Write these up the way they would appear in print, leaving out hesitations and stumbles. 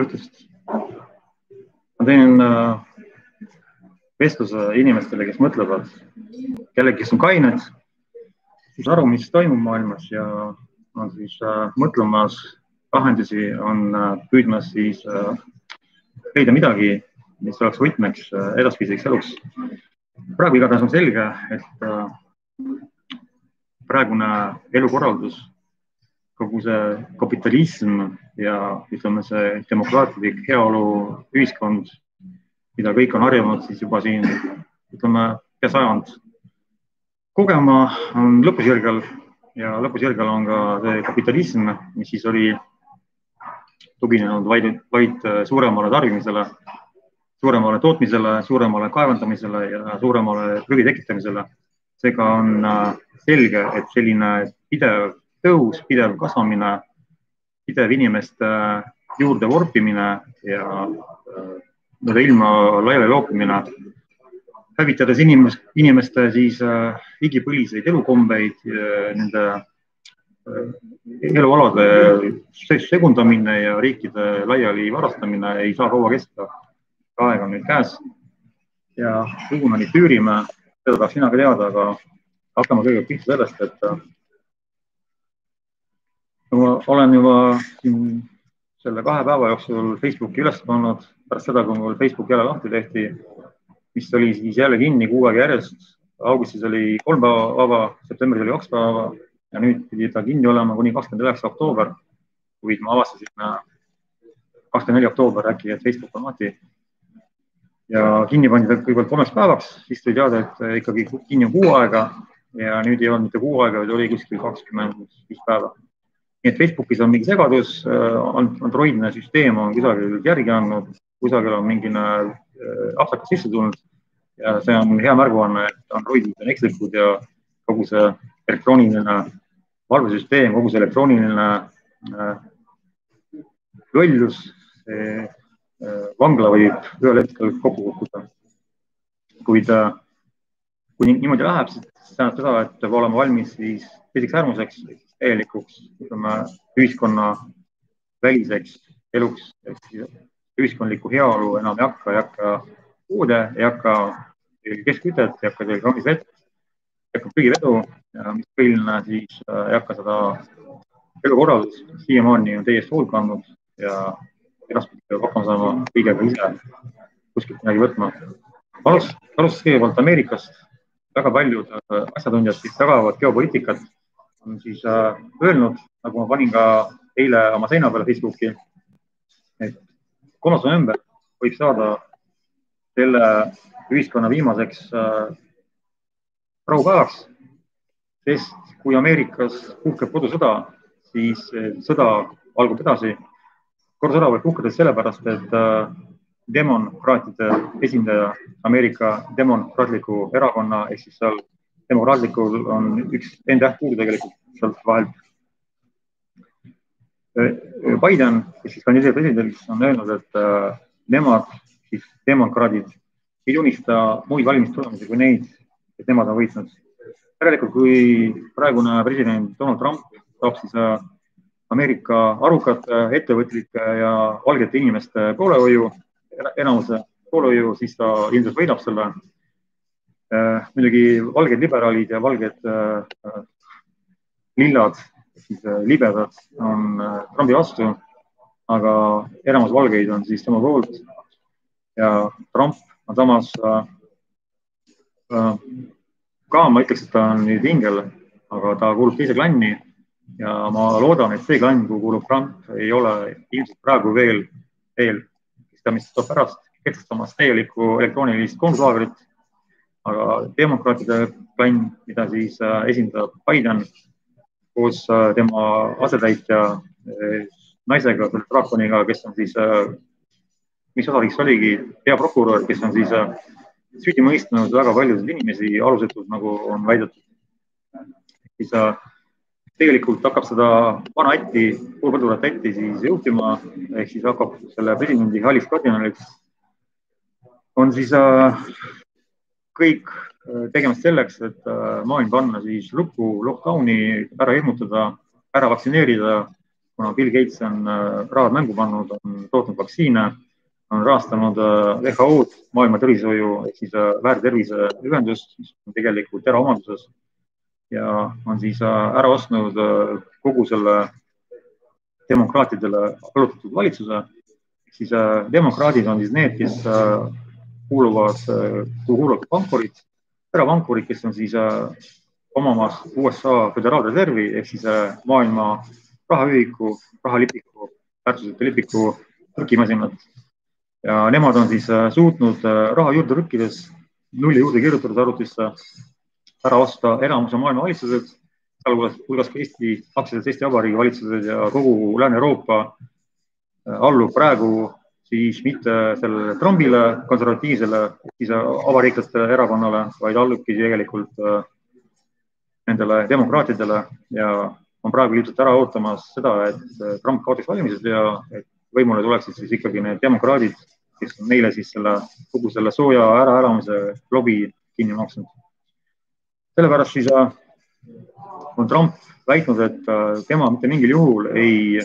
õhtust. Ma teen vestluse inimestele, kes mõtlevad, kellegi, kes on kained, siis aru, mis toimub maailmas ja on siis mõtlemas lahendusi, on püüdmas siis leida midagi, mis oleks võtmeks edaspidiseks eluks. Praegu igatahes on selge, et praegune elukorraldus, kogu see kapitalism ja ütleme see demokraatlik heaolu ühiskond, mida kõik on harjunud siis juba siin, ütleme, pea sajand kogema, on lõpusjärgel ja lõpusjärgel on ka see kapitalism, mis siis oli tuginenud vaid suuremale tarbimisele, suuremale tootmisele, suuremale kaevandamisele ja suuremale prügi tekitamisele. Seega on selge, et selline pidev tõus, pidev kasvamine, pidev inimeste juurde vorpimine ja ilma laiali loopimine, hävitades inimeste siis igipõliseid elukombeid, nende elualade segundamine ja riikide laiali varastamine ei saa kaua kesta. Aeg on nüüd käes ja kuhu me nüüd tüürime, seda tahaks sina ka teada, aga hakkame kõigepealt pihta sellest, et ma olen juba siin selle 2 päeva jooksul Facebooki üles pannud pärast seda, kui mul Facebook jälle lahti tehti, mis oli siis jälle kinni 6 aega järjest. Augustis oli 3 päeva vaba, septembris oli 2 päeva ja nüüd pidi ta kinni olema kuni 29. oktoober, kuid ma avastasin 24. oktoober äkki, et Facebook on lahti. Ja kinni pandi kõigepealt 3 päevaks, siis tuli teada, et ikkagi kinni on 6 aega ja nüüd ei olnud mitte 6 aega, vaid oli kuskil 25 päeva. Nii et Facebookis on mingi segadus, Androidne süsteem on kusagil järgi andnud, kusagil on mingine apsakas sisse tulnud ja see on hea märguanne, et Androidid on ekslikud ja kogu see elektrooniline valvesüsteem, kogu see elektrooniline lollus, vangla võib ühel hetkel kokku kukkuda. Kuid kui niimoodi läheb, siis tähendab seda, et peab olema valmis siis teiseks äärmuseks, täielikuks ühiskonna väliseks eluks. Ühiskondlikku heaolu enam ei hakka puude, ei hakka keskkütet, ei hakka kraanis vett, ei hakka prügivedu, mis põhiline siis ei hakka seda elukorraldus, siiamaani on täiesti hoolt kandnud ja edaspidi peab hakkama saama kõigega ise kuskilt midagi võtma. Alustas kõigepealt Ameerikast. Väga paljud asjatundjad, kes jagavad geopoliitikat, on siis öelnud, nagu ma panin ka eile oma seina peale Facebooki, et 3. november võib saada selle ühiskonna viimaseks rahupäevaks, sest kui Ameerikas puhkeb kodusõda, siis sõda algub edasi. Kodusõda võib puhkeda sellepärast, et demokraatide esindaja Ameerika demokraatliku erakonna, ehk siis seal demokraatlikul on üks täht puudu tegelikult sealt vahelt. Biden, kes siis kandideerib presidendiks, on öelnud, et nemad, siis demokraadid, ei tunnista muid valimistulemusi kui neid, et nemad on võitnud. Järelikult, kui praegune president Donald Trump saab siis Ameerika arukate, ettevõtlike ja valgete inimeste poolehoiu, enamuse poolehoiu, siis ta ilmselt võidab selle. Muidugi valged liberaalid ja valged lillad, siis libedad on Trumpi vastu, aga enamus valgeid on siis tema poolt ja Trump on samas ka, ma ütleks, et ta on nüüd hingel, aga ta kuulub teise klanni ja ma loodan, et see klann, kuhu kuulub Trump, ei ole ilmselt praegu veel, mis tuleb pärast kehtestamas täielikku elektroonilist konklaagrit, aga demokraatide klann, mida siis esindab Biden koos tema asetäitja naisega, draakoniga, kes on siis, mis osariks oligi peaprokurör, kes on siis süüdi mõistnud väga paljusid inimesi alusetult, nagu on väidetud. Siis tegelikult hakkab seda vana ätti, poolpõldurat ätti siis juhtima, ehk siis hakkab selle presidendi Halis kardinaliks. On siis kõik tegemist selleks, et maailm panna siis lukku, lockdowni, ära hirmutada, ära vaktsineerida, kuna Bill Gates on rahad mängu pannud, on tootnud vaktsiine, on rahastanud WHO-d, maailma tervishoiu ehk siis väärterviseühendust, mis on tegelikult eraomanduses ja on siis ära ostnud kogu selle demokraatidele allutatud valitsuse. Siis demokraadid on siis need, kes kuuluvad pankurid, erapankurid, kes on siis omamas USA föderaalreservi ehk siis maailma rahaühiku, rahalipiku, väärtusete lipiku trükimasinad. Ja nemad on siis suutnud raha juurde trükkides, nulli juurde kirjutatud arvutisse, ära osta enamuse maailma valitsused, sealhulgas ka Eesti Vabariigi valitsused ja kogu Lääne-Euroopa allub praegu siis mitte sellele Trumpile, konservatiivsele, siis avariiklaste erakonnale, vaid allubki tegelikult nendele demokraatidele ja on praegu ilmselt ära ootamas seda, et Trump kaotaks valimised ja et võimule tuleksid siis ikkagi need demokraadid, kes on neile siis kogu selle sooja äraelamise lobi kinni maksnud. Sellepärast siis on Trump väitnud, et tema mitte mingil juhul ei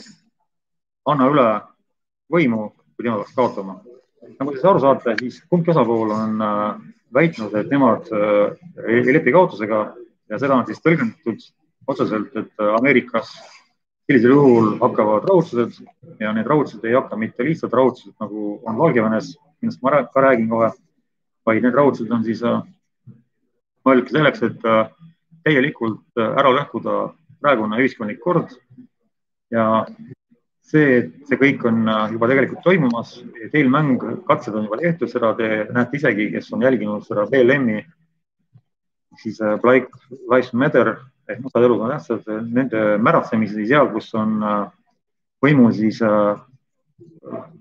anna üle võimu, kui tema peaks kaotama. Nagu te aru saate, siis kumbki osapool on väitnud, et nemad ei lepi kaotusega ja seda on siis tõlgendatud otseselt, et Ameerikas sellisel juhul hakkavad raudsused ja need raudsused ei hakka mitte lihtsalt raudsused, nagu on Valgevenes, millest ma ka räägin kohe, vaid need raudsused on siis mõeldud selleks, et täielikult ära lõhkuda praegune ühiskondlik kord ja see kõik on juba tegelikult toimumas. Eelmäng, katsed on juba tehtud, seda te näete isegi, kes on jälginud seda BLM-i, siis Black Lives Matter ehk mustad elud on tähtsad, nende märatsemisi seal, kus on võimul siis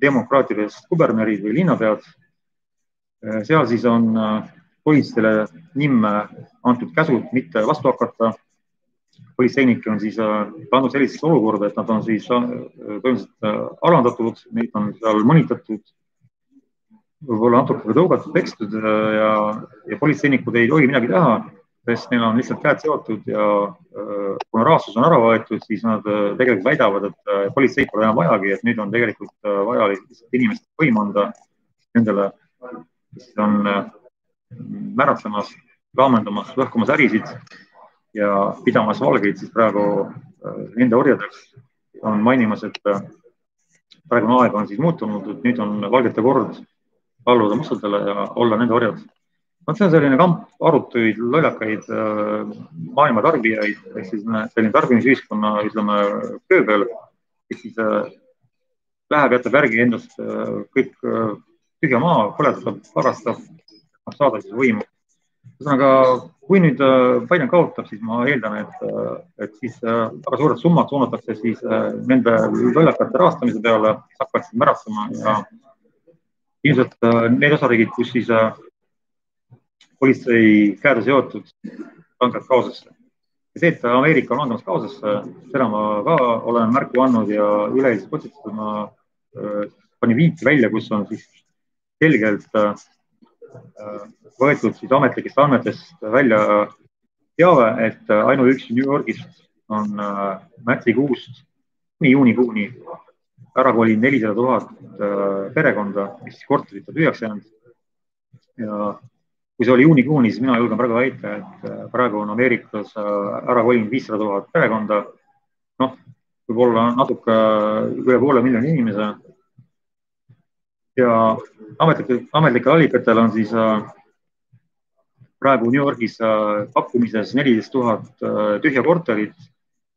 demokraatidest kubernerid või linnapead. Seal siis on politseile nimme antud käsud mitte vastu hakata. Politseinikke on siis pandud sellisesse olukorda, et nad on siis põhimõtteliselt alandatud, neid on seal mõnitatud, võib-olla natuke tõugatud, pekstud ja politseinikud ei tohi midagi teha, sest neil on lihtsalt käed seotud ja kuna rahastus on ära võetud, siis nad tegelikult väidavad, et politseid pole enam vajagi, et nüüd on tegelikult vaja inimeste võim anda nendele, kes on märatsemas, laamendamas, lõhkumas ärisid ja pidamas valgeid siis praegu nende orjadeks on mainimas, et praegune aeg on siis muutunud, et nüüd on valgete kord alluda mustadele ja olla nende orjad. See on selline kamp arutuid, lollakaid maailma tarbijaid, ehk siis selline tarbimisühiskonna, ütleme, kööbel, kes siis läheb, jätab järgi endast kõik tühja maa, põletab, varastab, saada siis võimu. Ühesõnaga, kui nüüd Biden kaotab, siis ma eeldan, et siis väga suured summad suunatakse siis nende lollakate rahastamise peale, kes hakkavad siis märatsema ja ilmselt need osariigid, kus siis politsei käed on seotud, langevad kaosesse. Ja see, et Ameerika on langemas kaosesse, seda ma ka olen märku andnud ja üleeilses postitusel ma panin viiti välja, kus on siis selgelt võetud siis ametlikest andmetest välja teave, et ainuüksi New Yorgist on märtsikuust kuni juunikuuni ära kolinud 400 000 perekonda, mis korterid on tühjaks jäänud. Ja kui see oli juunikuuni, siis mina julgen praegu väita, et praegu on Ameerikas ära kolinud 500 000 perekonda. Noh, võib-olla natuke üle 500 000 inimese. Ja ametlikel allikatel on siis praegu New Yorgis pakkumises 14 000 tühja korterit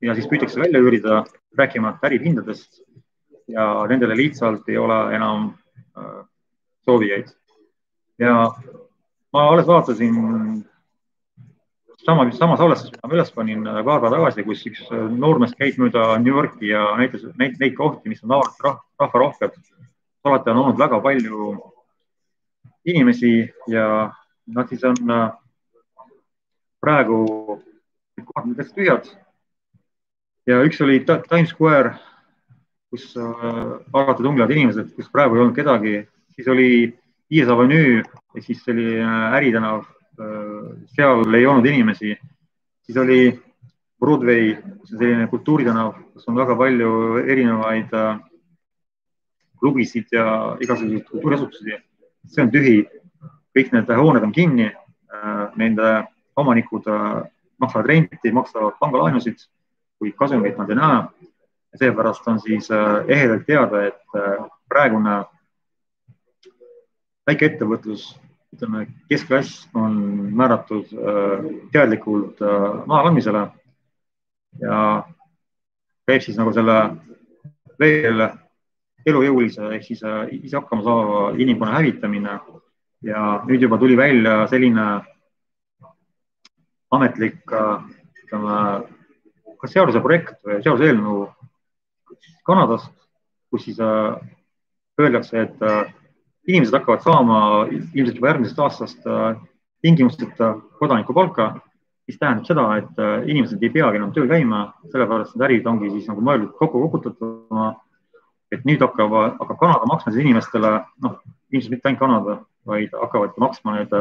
ja siis püütakse välja üürida, rääkimata ärihindadest ja nendele lihtsalt ei ole enam soovijaid. Ja ma alles vaatasin sama salvestust, mida ma üles panin paar päeva tagasi, kus üks noormees käib mööda New Yorki ja näitas neid kohti, mis on rahvarohked. Alati on olnud väga palju inimesi ja nad siis on praegu kohad tühjad. Ja üks oli Times Square, kus alati tunglevad inimesed, kus praegu ei olnud kedagi. Siis oli Viies Avenue, siis oli Äritänav, seal ei olnud inimesi. Siis oli Broadway, kus on selline kultuuritänav, kus on väga palju erinevaid klubisid ja igasuguseid kultuuriasutusi. See on tühi, kõik need hooned on kinni, nende omanikud maksavad renti, maksavad pangalaenusid, kuid kasumit nad ei näe. Seepärast on siis ehedalt teada, et praegune väikeettevõtlus, ütleme keskklass on määratud teadlikult maha kandmisele ja käib siis nagu selle veel elujõulise ehk siis ise hakkama saava inimkonna hävitamine ja nüüd juba tuli välja selline ametlik ütleme, kas seaduse projekt või seaduse eelnõu Kanadast, kus siis öeldakse, et inimesed hakkavad saama ilmselt juba järgmisest aastast tingimusteta kodanikupalka, mis tähendab seda, et inimesed ei peagi enam tööl käima, sellepärast need ärid ongi siis nagu mõeldud kokku koputatama, et nüüd hakkab Kanada maksma siis inimestele, ilmselt mitte ainult Kanada, vaid hakkavad maksma need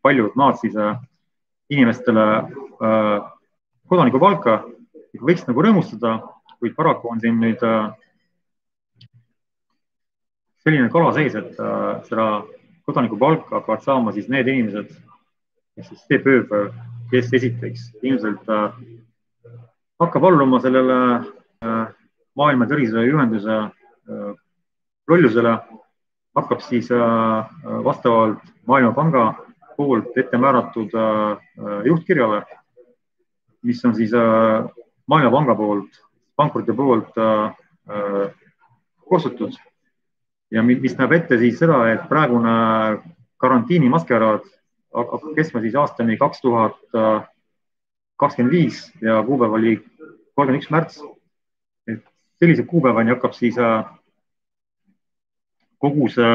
paljud maad siis inimestele kodanikupalka, võiks nagu rõõmustada, kuid paraku on siin nüüd selline kala seis, et seda kodanikupalka hakkavad saama siis need inimesed, kes esiteks ilmselt hakkab alluma sellele Maailma Terviseühenduse rollusele, hakkab siis vastavalt Maailmapanga poolt ette määratud juhtkirjale, mis on siis Maailmapanga poolt, pankurite poolt koostatud ja mis näeb ette siis seda, et praegune karantiini maskeraad hakkab kestma siis aastani 2025 ja kuupäev oli 31. märts. Et sellise kuupäevani hakkab siis kogu see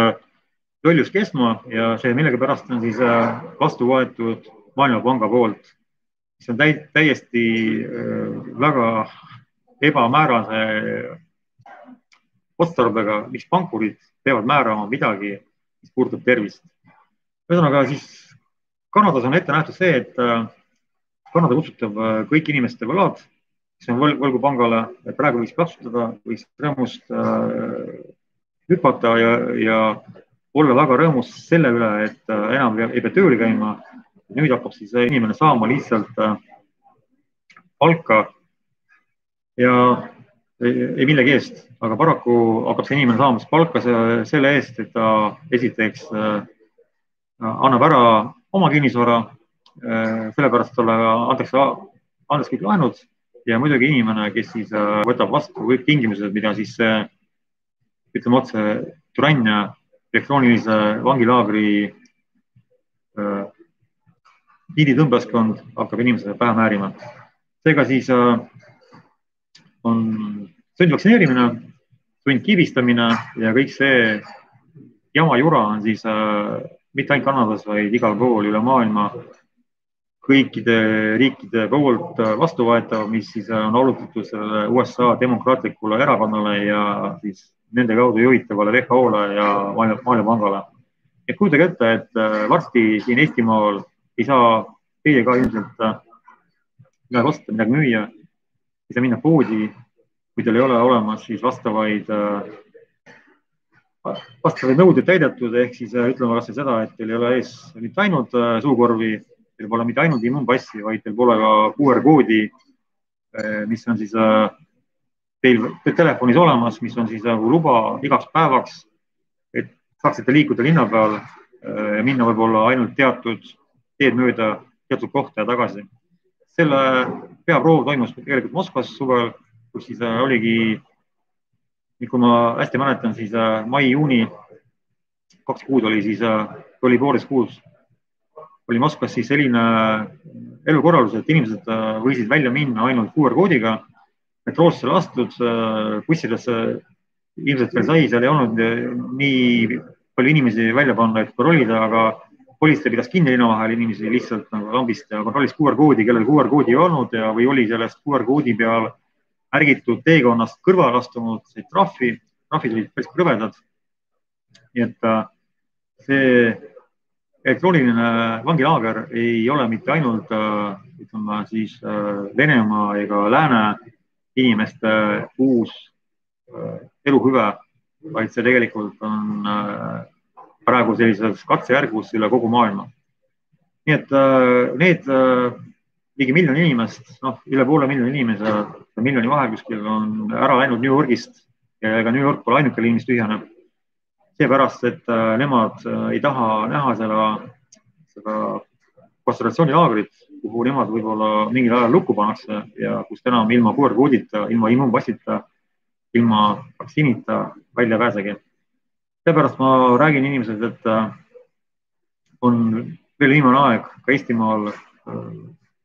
lollus kestma ja see millegipärast on siis vastu võetud Maailmapanga poolt, mis on täiesti väga ebamäärase otstarbega, miks pankurid peavad määrama midagi, mis puudutab tervist. Ühesõnaga siis Kanadas on ette nähtud see, et Kanada kustutab kõik inimeste võlad, mis on võlgu pangale, et praegu võiks plaksutada, võiks rõõmust hüpata ja olla väga rõõmus selle üle, et enam ei pea tööle käima. Nüüd hakkab siis inimene saama lihtsalt palka ja ei millegi eest, aga paraku hakkab see inimene saama palka selle eest, et ta esiteks annab ära oma kinnisvara, sellepärast talle antakse kõik laenud ja muidugi inimene, kes siis võtab vastu kõik tingimused, mida siis ütleme otse Turanja elektroonilise vangilaagri piiditõmblaskond hakkab inimesele pähe määrima. Seega siis on sundvaktsineerimine, sundkivistamine ja kõik see jama jura on siis mitte ainult Kanadas, vaid igal pool üle maailma kõikide riikide poolt vastuvõetav, mis siis on allutatud sellele USA demokraatlikule erakonnale ja siis nende kaudu juhitavale WHO-le ja Maailmapangale. Et kujutage ette, et varsti siin Eestimaal ei saa teie ka ilmselt midagi osta, midagi müüa, ei saa minna poodi, kui teil ei ole olemas siis vastavaid nõudeid täidetud, ehk siis ütleme kas seda, et teil ei ole ees mitte ainult suukorvi, teil pole mitte ainult immuunpassi, vaid teil pole ka QR-koodi, mis on siis teil telefonis olemas, mis on siis nagu luba igaks päevaks, et saaksite liikuda linna peal ja minna võib-olla ainult teatud teed mööda teatud kohta ja tagasi. Selle peaproov toimus tegelikult Moskvas suvel, kus siis oligi, kui ma hästi mäletan, siis mai-juuni 2 kuud oli siis, oli poolteist kuus, oli Moskvas siis selline elukorraldus, et inimesed võisid välja minna ainult QR-koodiga, metroosse lastud, bussidesse ilmselt veel sai, seal ei olnud nii palju inimesi välja panna, et kontrollida, aga politsei pidas kinni linna vahel inimesi lihtsalt nagu lambist ja kontrollis QR-koodi, kellel QR-koodi ei olnud ja või oli sellest QR-koodi peal ärgitud teekonnast kõrvale astunud trahvid olid päris krõvedad. Nii et see elektrooniline vangilaager ei ole mitte ainult ütleme siis Venemaa ega lääne inimeste uus eluhüve, vaid see tegelikult on praegu sellises katsejärgus üle kogu maailma. Nii et need ligi miljon inimest, üle poole miljoni inimese, miljoni vahel kuskil on ära läinud New Yorgist ja ega New York pole ainuke linn, mis tühjaneb. Seepärast, et nemad ei taha näha seda kontsentratsioonilaagrit, kuhu nemad võib-olla mingil ajal lukku pannakse ja kust enam ilma QR-koodita, ilma immuunpassita, ilma vaktsiinita välja pääsegi. Seepärast ma räägin inimesed, et on veel viimane aeg ka Eestimaal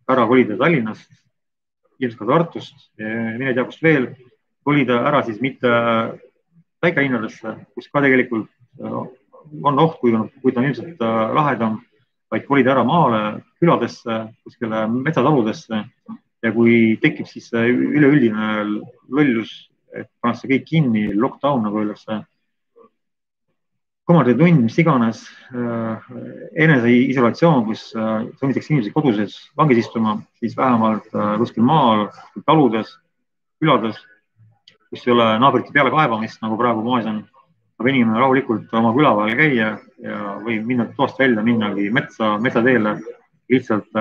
ära kolida Tallinnast, ilmselt ka Tartust, mine tea kust veel, kolida ära siis mitte väikelinnadesse, kus ka tegelikult on oht, kui ta on ilmselt lahedam, vaid kolida ära maale, küladesse, kuskile metsataludesse ja kui tekib siis üleüldine lollus, et pannakse kõik kinni, lockdown nagu öeldakse, komanditund, mis iganes, eneseisolatsioon, kus sunnitakse inimesi koduses vangis istuma, siis vähemalt kuskil maal, taludes, külades, kus ei ole naabrite peale kaebamist, nagu praegu moes on, saab inimene rahulikult oma küla vahel käia ja võib minna toast välja, minnagi metsateele, lihtsalt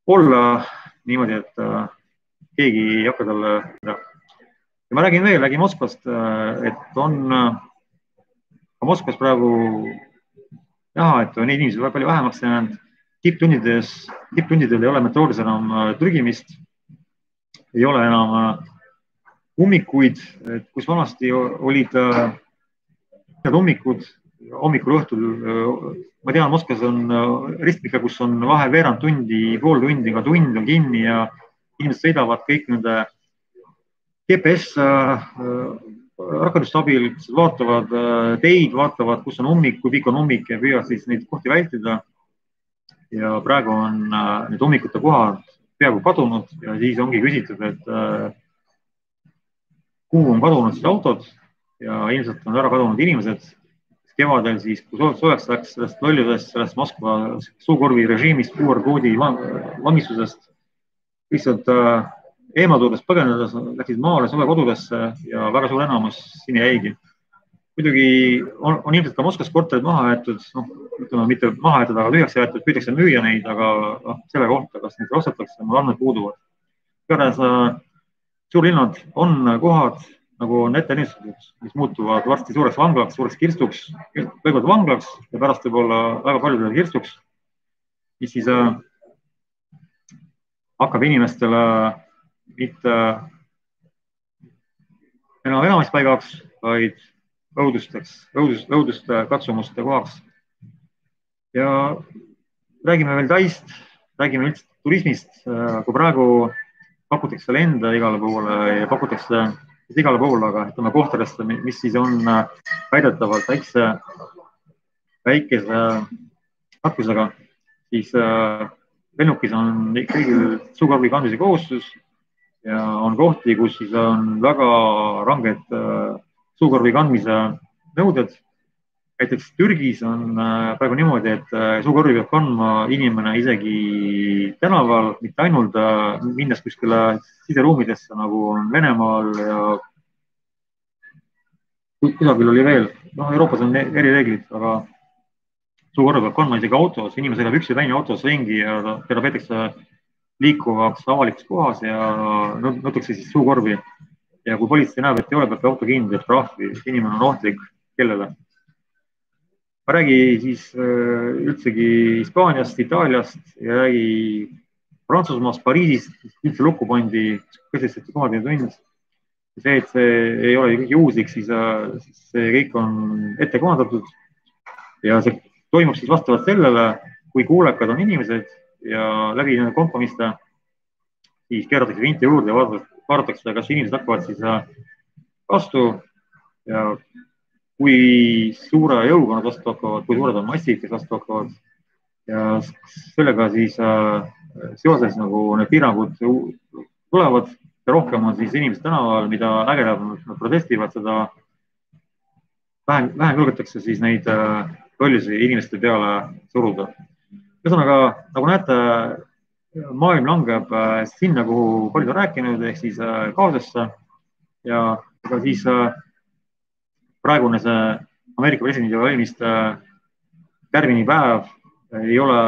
olla niimoodi, et keegi ei hakka talle. Ja ma räägin Moskvast, et on Moskvas praegu näha, et on inimesi väga palju vähemaks jäänud. Tipptundidel ei ole metroodis enam trügimist, ei ole enam ummikuid, kus vanasti olid ummikud hommikul õhtul. Ma tean, Moskvas on ristmike, kus on vahe veerand tundi, pool tundi, ka tund on kinni ja inimesed sõidavad kõik nende GPS rakenduste abil, vaatavad teid, vaatavad, kus on ummik, kui pikk on ummik ja püüavad siis neid kohti vältida. Ja praegu on need ummikute kohad peaaegu kadunud ja siis ongi küsitud, et kuhu on kadunud siis autod ja ilmselt on ära kadunud inimesed. Kevadel siis, kui soojaks läks sellest lollusest, sellest Moskva suukorvi režiimist, QR-koodi vangistusest, lihtsalt eemaldudes põgenedes läksid maale suvekodudesse ja väga suur enamus siin jäigi. Muidugi on ilmselt ka Moskvas korterid maha jäetud, ütleme mitte maha jäetud, aga tühjaks jäetud, püütakse müüa neid, aga selle kohta, kas neid ostetakse, mul andmed puuduvad. Igatahes suurlinnad on kohad, nagu on ette ennistatud, mis muutuvad varsti suureks vanglaks, suureks kirstuks, kõigepealt vanglaks ja pärast võib-olla väga paljudele kirstuks, mis siis hakkab inimestele mitte enam elamispaigaks, vaid õuduste katsumuste kohaks. Ja räägime veel Taist, räägime üldse turismist, kui praegu pakutakse lende igale poole ja pakutakse igale poole, aga ütleme kohtadesse, mis siis on väidetavalt väikese nakkusega, siis lennukis on kõigil suukorvi kandmise kohustus ja on kohti, kus siis on väga ranged suukorvi kandmise nõuded. Näiteks Türgis on praegu niimoodi, et suukorvi peab kandma inimene isegi tänaval, mitte ainult minnes kuskile siseruumidesse, nagu on Venemaal ja kusagil oli veel. Euroopas on erireeglid, aga suukorvi peab kandma isegi autos, inimene sõidab üksi väini autos ringi ja teda peetakse liikuvaks avalikus kohas ja nõutakse siis suukorvi. Ja kui politsei näeb, et ei ole, peab auto kinni, teeb trahvi, inimene on ohtlik kellele. Ma räägi siis üldsegi Hispaaniast, Itaaliast ja räägi Prantsusmaast, Pariisist, üldse lukku pandi, kõsestati komanditund. See, et see ei ole kõik juhuslik, siis see kõik on ette kohandatud ja see toimub siis vastavalt sellele, kui kuulekad on inimesed ja läbi nende kompromiste siis keeratakse vinti juurde ja vaadatakse, kas inimesed hakkavad siis vastu ja kui suure jõuga nad vastu hakkavad, kui suured on massid, kes vastu hakkavad ja sellega siis seoses nagu need piirangud tulevad ja rohkem on siis inimesed tänaval, mida ägedamalt nad protestivad, seda vähem julgetakse siis neid tollisid inimeste peale suruda. Ühesõnaga, nagu näete, maailm langeb sinna, kuhu paljud on rääkinud, ehk siis kaosesse ja siis praegune see Ameerika presidendi valimiste tärmini päev ei ole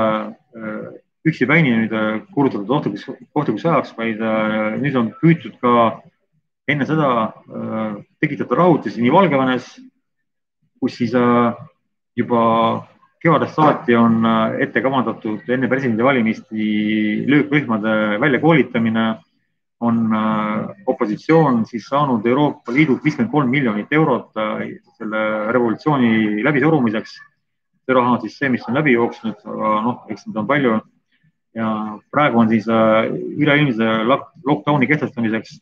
üksipäini nüüd kuulutatud ohtlikuks ajaks, vaid nüüd on püütud ka enne seda tekitada rahutusi nii Valgevenes, kus siis juba kevadest saati on ette kavandatud enne presidendivalimisi löökrühmade väljakoolitamine, on opositsioon siis saanud Euroopa Liidult 53 miljonit eurot selle revolutsiooni läbisurumiseks. See raha on siis see, mis on läbi jooksnud, aga eks neid on palju. Ja praegu on siis üleilmse lockdowni kehtestamiseks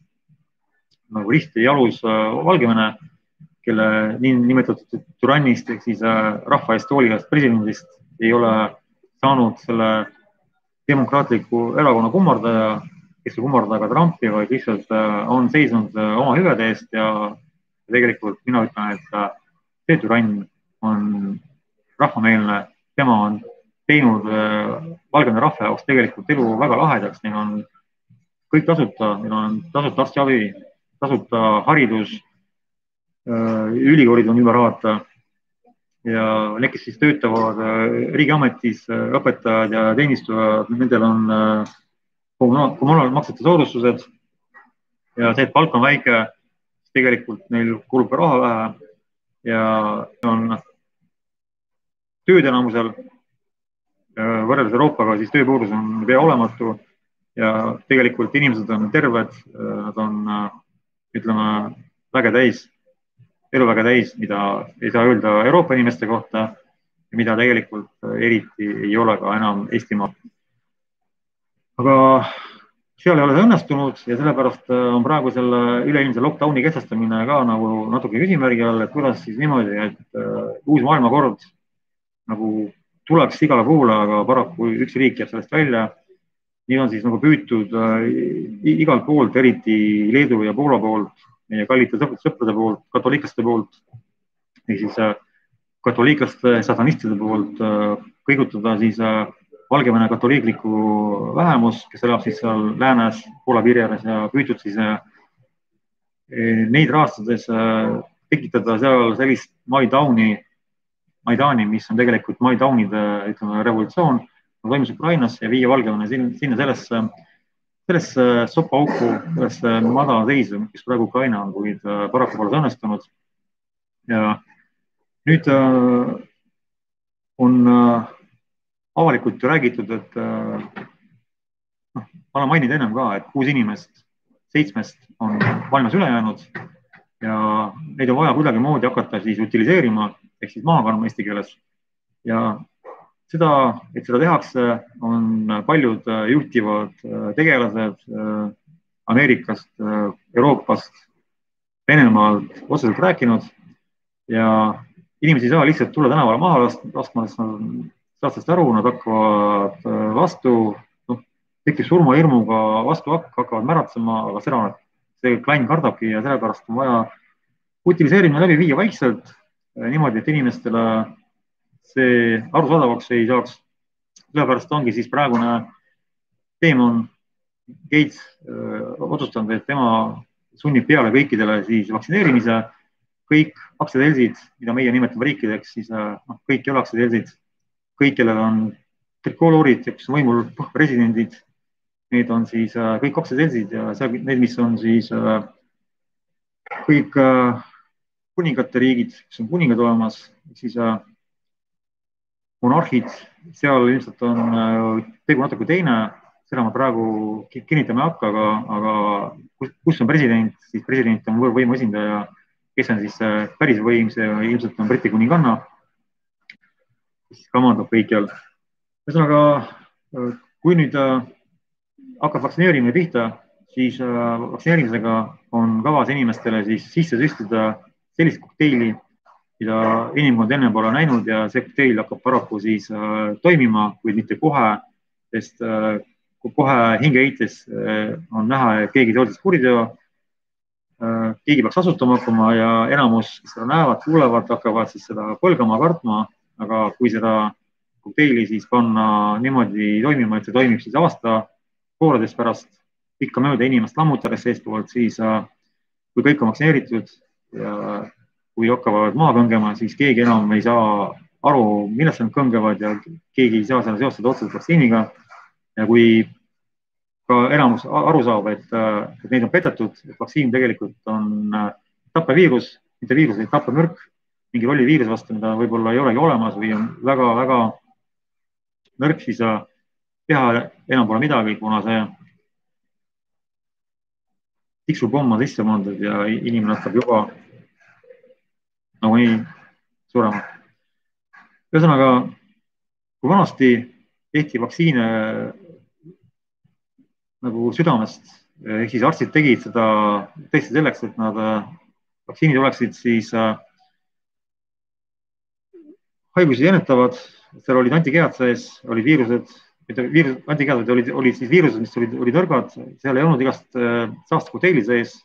nagu risti jalus Valgevene, kelle nimetatud türannist ehk siis rahva eest hoolivast presidendist ei ole saanud selle demokraatliku erakonna kummardaja, kes ei kummarda ka Trumpi, vaid lihtsalt on seisnud oma hüvede eest ja tegelikult mina ütlen, et see türann on rahvameelne, tema on teinud Valgevene rahva jaoks tegelikult elu väga lahedaks, neil on kõik tasuta, neil on tasuta arstiabi, tasuta haridus, ülikoolid on ilma rahata ja need, kes siis töötavad riigiametis, õpetajad ja teenistujad, nendel on kommunaalmaksete soodustused ja see, et palk on väike, tegelikult neil kulub raha vähe ja on tööd enamusel võrreldes Euroopaga, siis tööpuudus on pea olematu ja tegelikult inimesed on terved, nad on, ütleme, väga täis, elu väga täis, mida ei saa öelda Euroopa inimeste kohta ja mida tegelikult eriti ei ole ka enam Eestimaa. Aga seal ei ole see õnnestunud ja sellepärast on praegu selle üleilmse lockdowni kehtestamine ka nagu natuke küsimärgi all, et kuidas siis niimoodi, et uus maailmakord nagu tuleks igale poole, aga paraku üks riik jääb sellest välja. Nii on siis nagu püütud igalt poolt, eriti Leedu ja Poola poolt, meie kallite sõprade poolt, katoliiklaste poolt, ehk siis katoliiklaste satanistide poolt kõigutada siis Valgevene katoliiklikku vähemus, kes elab siis seal läänes, Poola piiri ääres ja püütud siis neid rahastades tekitada seal sellist Maidani, mis on tegelikult Maidaunide, ütleme, revolutsioon, toimus Ukrainasse ja viia Valgevene sinna sellesse sopauku, sellesse madala seisu, mis praegu Ukraina on, kuid paraku pole õnnestunud. Ja nüüd on avalikult räägitud, et ma olen maininud ennem ka, et 6 inimest 7 on maailmas üle jäänud ja neid on vaja kuidagimoodi hakata siis utiliseerima, ehk siis maha kandma eesti keeles. Ja seda, et seda tehakse, on paljud juhtivad tegelased Ameerikast, Euroopast, Venemaalt otseselt rääkinud ja inimesi ei saa lihtsalt tulla tänavale maha laskma, sest nad saavad sellest aru, nad hakkavad vastu, tekib surmahirmuga vastu hakkavad märatsema, aga seda see klann kardabki ja sellepärast on vaja utiliseerimine läbi viia vaikselt, niimoodi, et inimestele see arusaadavaks ei saaks. Sellepärast ongi siis praegune teemon Gates otsustanud, et tema sunnib peale kõikidele siis vaktsineerimise, kõik aktsiaseltsid, mida meie nimetame riikideks, siis kõik ei ole aktsiaseltsid, kõik, kellel on trikooloorid, kes on võimul presidendid, need on siis kõik aktsiaseltsid ja need, mis on siis kõik kuningate riigid, kes on kuningad olemas, siis monarhid, seal ilmselt on tegu natuke teine, seda ma praegu kinnitama ei hakka, aga kus on president, siis president on võrvvõimu esindaja, kes on siis päris võim, see ilmselt on Briti kuninganna, kes kamandab kõikjal. Ühesõnaga, kui nüüd hakkab vaktsineerimine pihta, siis vaktsineerimisega on kavas inimestele siis sisse süstida sellist kokteili, mida inimkond enne pole näinud ja see kokteil hakkab paraku siis toimima, kuid mitte kohe, sest kohe hingeheites on näha, et keegi soodis kuriteo, keegi peaks asutama hakkama ja enamus, kes seda näevad, kuulevad, hakkavad siis seda põlgama, kartma, aga kui seda kokteili siis panna niimoodi toimima, et see toimib siis aasta-pooleteist pärast pikkamööda inimest lammutades seestpoolt, siis kui kõik on vaktsineeritud ja kui hakkavad maha kõngema, siis keegi enam ei saa aru, millest nad kõngevad ja keegi ei saa seda seostada otseselt vaktsiiniga. Ja kui ka enamus aru saab, et neid on petetud, et vaktsiin tegelikult on tappeviirus, mitte viirus, vaid tappemürk, mingi rolli viiruse vastu, mida võib-olla ei olegi olemas või on väga-väga nõrk, siis teha enam pole midagi, kuna see tiksupomm on sisse pandud ja inimene hakkab juba nagunii surema. Ühesõnaga, kui vanasti tehti vaktsiine nagu südamest, ehk siis arstid tegid seda tõesti selleks, et nad vaktsiinid oleksid siis haigusi ennetavad, seal olid antikehad sees, olid viirused, antikehad olid siis viirused, mis olid nõrgad, seal ei olnud igast saastekokteili sees.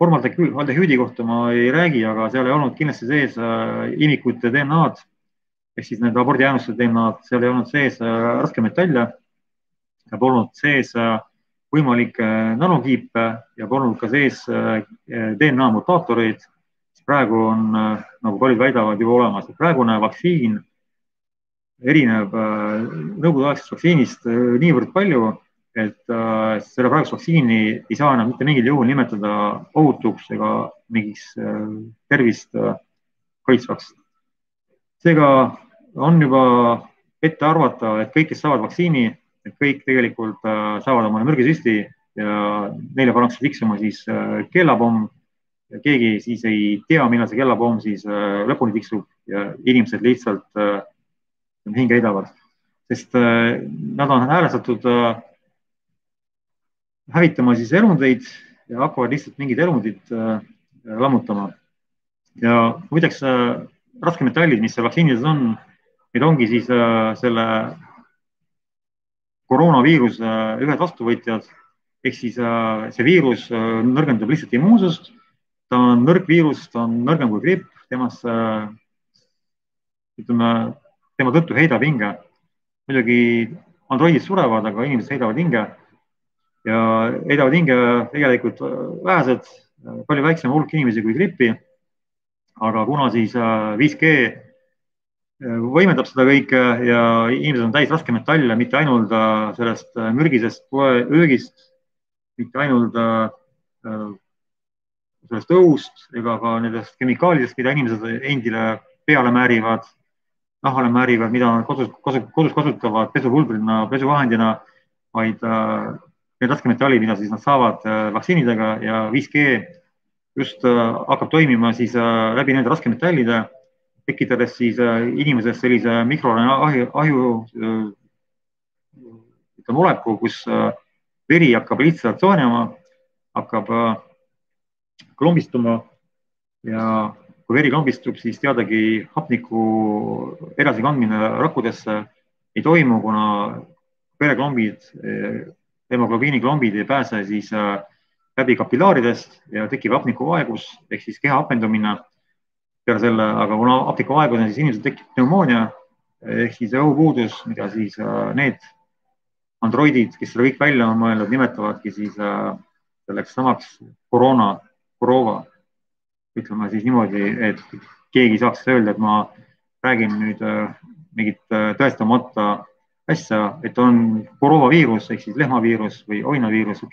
Formaldehüüdi kohta ma ei räägi, aga seal ei olnud kindlasti sees imikute DNA-d, ehk siis need abordijäänuste DNA-d, seal ei olnud sees raskemetalle, polnud sees võimalikke nanokiipe ja polnud ka sees DNA mutaatoreid. Praegu on, nagu paljud väidavad, juba olemas. Praegune vaktsiin erineb nõukogudeaegsest vaktsiinist niivõrd palju, et selle praegust vaktsiini ei saa enam mitte mingil juhul nimetada ohutuks ega mingiks tervist kaitsvaks. Seega on juba ette arvata, et kõik, kes saavad vaktsiini, et kõik tegelikult saavad omale mürgisüsti ja neile pannakse tiksuma siis kellapomm. Ja keegi siis ei tea, millal see kellapomm siis lõpuni tiksub ja inimesed lihtsalt hinge heidavad, sest nad on häälestatud hävitama siis elundeid ja hakkavad lihtsalt mingid elundid lammutama. Ja muideks raskemetallid, mis vaktsiinides on, need ongi siis selle koroonaviiruse ühed vastuvõtjad, ehk siis see viirus nõrgendab lihtsalt immuunsust. Ta on nõrk viirus, ta on nõrgem kui gripp, temast, ütleme, tema tõttu heidab hinge. Muidugi androidid surevad, aga inimesed heidavad hinge ja heidavad hinge tegelikult vähesed, palju väiksem hulk inimesi kui grippi. Aga kuna siis 5G võimendab seda kõike ja inimesed on täis raskemetalle, mitte ainult sellest mürgisest öögist, mitte ainult sellest õhust ega ka nendest kemikaalidest, mida inimesed endile peale määrivad, nahale määrivad, mida nad kodus kasutavad pesupulbrina, pesuvahendina, vaid need raskemetallid, mida siis nad saavad vaktsiinidega ja 5G just hakkab toimima siis läbi nende raskemetallide, tekitades siis inimesest sellise mikroahju oleku, kus veri hakkab lihtsalt soonema, hakkab klombistuma ja kui veri klombistub, siis teadagi hapniku edasikandmine rakkudesse ei toimu, kuna vereklombid, hemoglobiiniklombid ei pääse siis läbi kapillaaridest ja tekib hapnikuvaegus ehk siis keha hapendumine peale selle, aga kuna hapnikuvaegus on, siis inimesel tekib pneumoonia ehk siis õhupuudus, mida siis need androidid, kes selle kõik välja on mõelnud, nimetavadki siis selleks samaks koroova. Ütleme siis niimoodi, et keegi saaks öelda, et ma räägin nüüd mingit tõestamata asja, et on koroovaviirus ehk siis lehmaviirus või oinaviirus,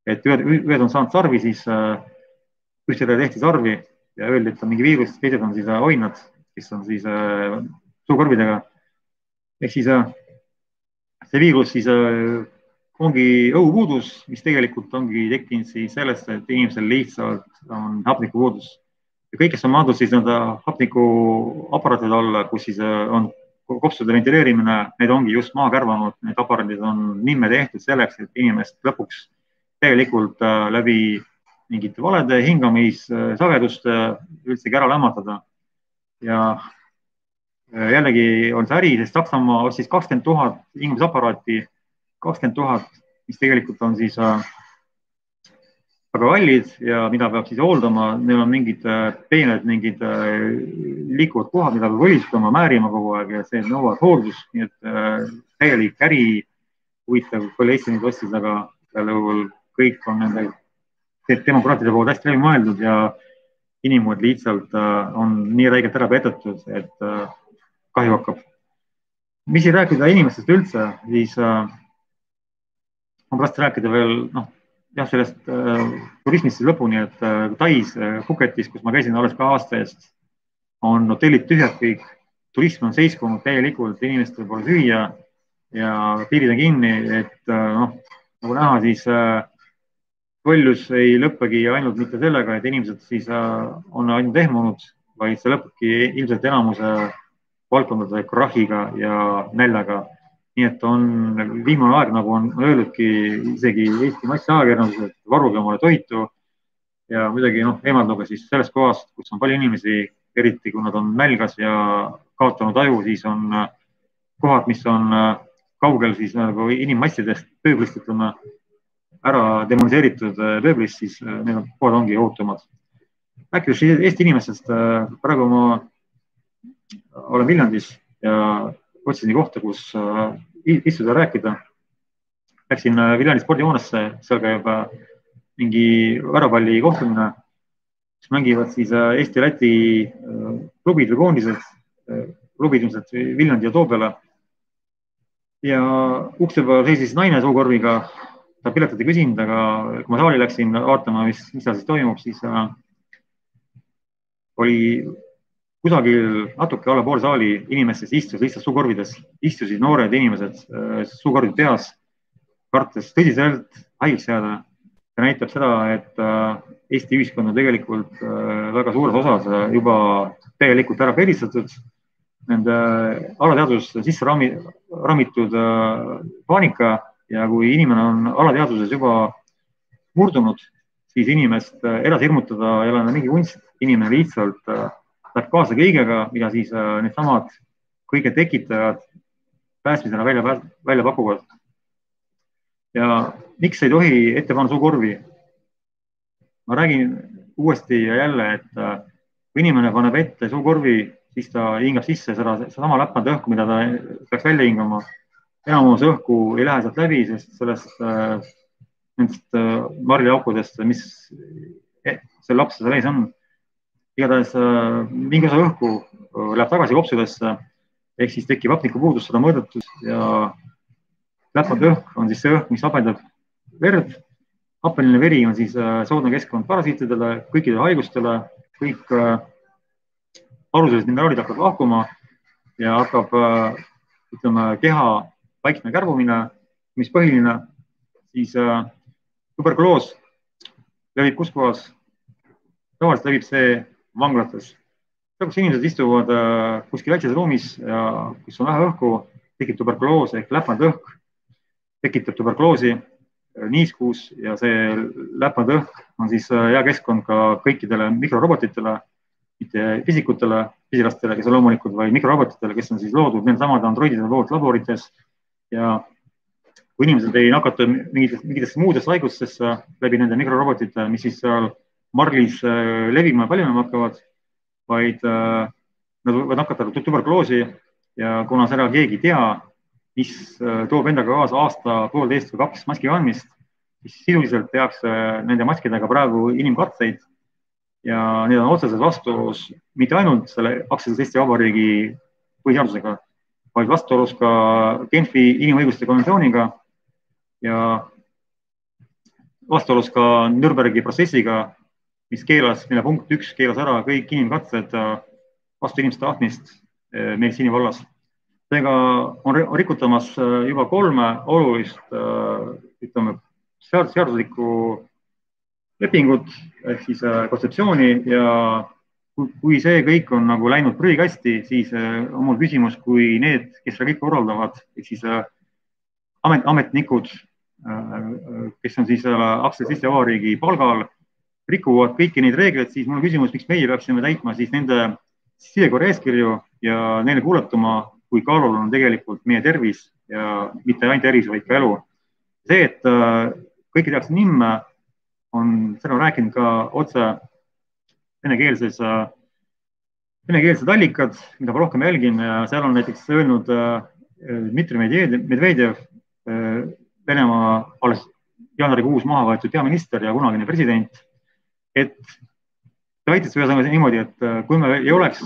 et ühed on saanud sarvi, siis ühtedele tehti sarvi ja öeldi, et on mingi viirus, teised on siis oinad, kes on siis suukorvidega. Ehk siis see viirus siis ongi õhupuudus, mis tegelikult ongi tekkinud siis sellest, et inimesel lihtsalt on hapnikupuudus. Ja kõik, kes on maadud siis nende hapnikuaparaatide alla, kus siis on kopsude ventileerimine, need ongi just maha kärvanud, need aparaadid on nimme tehtud selleks, et inimest lõpuks tegelikult läbi mingite valede hingamisageduste üldsegi ära lämmatada. Ja jällegi on see äri, sest Saksamaa ostis 20 000 hingamisaparaati, 20 000, mis tegelikult on siis väga kallid ja mida peab siis hooldama, neil on mingid peened, mingid liikuvad kohad, mida peab õlistama, määrima kogu aeg ja see nõuab hooldust, nii et täielik äri, huvitav, palju Eesti neid ostis, aga seal juhul kõik on nende demokraatide poolt hästi läbi mõeldud ja inimesed lihtsalt on nii räigelt ära petatud, et kahju hakkab. Mis ei rääkida inimestest üldse, siis on pärast rääkida veel, jah, sellest turismist lõpuni, et Tais Phuketis, kus ma käisin alles ka aasta eest, on hotellid tühjad kõik, turism on seiskunud täielikult, inimestel pole süüa ja piirid on kinni, et nagu näha, siis kollus ei lõppegi ainult mitte sellega, et inimesed siis on ainult ehmunud, vaid see lõppebki ilmselt enamuse valdkondade krahiga ja näljaga. Nii et on viimane aeg, nagu on öeldudki isegi Eesti massiajakirjandus, et varuge omale toitu ja muidugi eemalduge siis sellest kohast, kus on palju inimesi, eriti kui nad on nälgas ja kaotanud aju, siis on kohad, mis on kaugel siis nagu inimmassidest pööblist, ütleme, ära demoniseeritud pööblist, siis need kohad ongi ohutumad. Rääkides Eesti inimestest, praegu ma olen Viljandis ja otsin kohta, kus istuda rääkida. Läksin Viljandi spordihoonesse, seal käib mingi värapalli kohtumine, mis mängivad siis Eesti-Läti klubid või koondised, klubid ilmselt Viljandi ja Toobele. Ja ukse peal seisis naine suukorviga, ta piletit ei küsinud, aga kui ma saali läksin vaatama, mis seal siis toimub, siis oli kusagil natuke alla pool saali inimestest istus lihtsalt suukorvides, istusid noored inimesed suukorvid peas, kartes tõsiselt haigeks jääda. See näitab seda, et Eesti ühiskond on tegelikult väga suures osas juba täielikult ära pelistatud, nende alateadvuses sisse ramitud paanika ja kui inimene on alateadvuses juba murdunud, siis inimest edasi hirmutada ei ole mingi kunst, inimene lihtsalt läheb kaasa kõigega, mida siis needsamad kõige tekitajad päästmisena välja pakuvad. Ja miks ei tohi ette panna suukorvi? Ma räägin uuesti ja jälle, et kui inimene paneb ette suukorvi, siis ta hingab sisse sedasama läpmand õhku, mida ta peaks välja hingama. Enamus õhku ei lähe sealt läbi, sest nendest marliaukudest, mis see laps seal ees on, igatahes mingi osa õhku läheb tagasi kopsudesse, ehk siis tekib hapnikupuudus, seda mõõdetud ja läpmand õhk on siis see õhk, mis hapendab verd. Happeline veri on siis soodne keskkond parasiitidele, kõikidele haigustele, kõik aluselised mineraalid hakkavad lahkuma ja hakkab, ütleme, keha vaikne kärbumine, mis põhiline, siis tuberkuloos levib kus kohas? Tavaliselt levib see vanglates. Kus inimesed istuvad kuskil väikses ruumis ja kus on vähe õhku, tekib tuberkuloos ehk läpmand õhk, tekitab tuberkuloosi, niiskuus ja see läpmand õhk on siis hea keskkond ka kõikidele mikrorobotitele, mitte fisikutele, pisilastele, kes on loomulikud, vaid mikrorobotitele, kes on siis loodud nende samade androidide poolt laborites ja kui inimesed ei nakata mingitesse muudesse haigustesse läbi nende mikrorobotite, mis siis seal marlis levima ja paljunema hakkavad, vaid nad võivad nakatada tuberkuloosi ja kuna seda keegi ei tea, mis toob endaga kaasa aasta, poolteist või 2 maski kandmist, siis sisuliselt tehakse nende maskidega praegu inimkatseid ja need on otseselt vastuolus mitte ainult selle aktsiases Eesti Vabariigi põhiseadusega, vaid vastuolus ka Genfi inimõiguste konventsiooniga ja vastuolus ka Nürnbergi protsessiga, mille punkt 1 keelas ära kõik inimkatsed vastu inimeste tahtmist meditsiini vallas. Seega on rikutamas juba 3 olulist, ütleme, seaduslikku lepingut, ehk siis kontseptsiooni ja kui see kõik on nagu läinud prügikasti, siis on mul küsimus, kui need, kes seda kõik korraldavad, ehk siis ametnikud, kes on siis aktsiases Eesti Vabariigi palgal, rikuvad kõiki neid reegleid, siis mul on küsimus, miks meie peaksime täitma siis nende sisekorra eeskirju ja neile kuuletuma, kui kaalul on tegelikult meie tervis ja mitte ainult tervis, vaid ka elu. See, et kõike tehakse nimme, seda rääkinud ka otse venekeelsed allikad, mida ma rohkem jälgin ja seal on näiteks öelnud Dmitri Medvedjev, Venemaa alles jaanuarikuus maha võetud peaminister ja kunagine president, et ta väitis ühesõnaga niimoodi, et kui me ei oleks